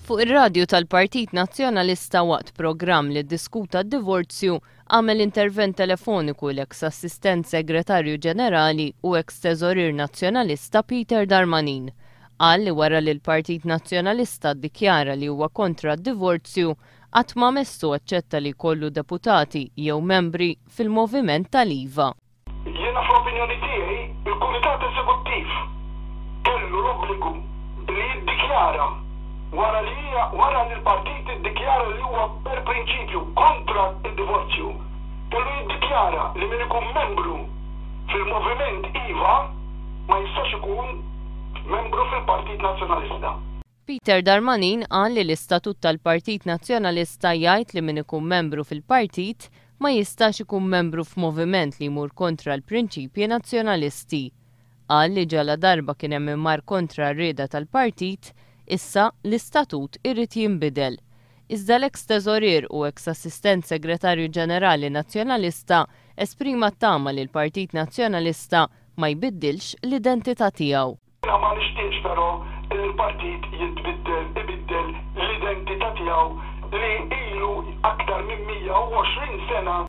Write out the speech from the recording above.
Fuq ir-radju tal-Partit Nazzjonalista waqt programm li ddiskuta d-divorzju għamel intervent telefoniku l-eks Assistent Segretarju Ġenerali u eks Teżorier Nazzjonalista Peter Darmanin. Qal li wara li l-Partit Nazzjonalista ddikjara li huwa kontra d-divorzju, qatt ma messu aċċetta li jkollu deputati jew membri fil-moviment tal-IVA. Jiena fl-opinjoni tiegħi il-Kumitat Eżekuttiv kellu l-obbligu li jiddikjara wara li wara li l-partit iddikjara li huwa per prinċipju kontra d-divorzju, kellu jiddikjara li min ikun membru fil-Moviment iva ma jistax ikun membru fil-Partit Nazzjonalista. Peter Darmanin qal li l-istatut tal-Partit Nazzjonalista jgħid li min ikun membru fil-partit ma jistax ikun membru f'moviment li jmur kontra l-prinċipji Nazzjonalisti. Qal li ġaladarba kien hemm min mar kontra r-rieda tal-partit, issa l-istatut irid jinbidel. Iżda l-eks Teżorier u eks Assistent Segretarju Ġenerali Nazzjonalista esprima t-tama li l-Partit Nazzjonalista ma jbiddilx l-identità tiegħu. Jiena ma nixtieqx però li l-partit jitbiddel, ibiddel l-identità tiegħu li ilu aktar minn 120 sena.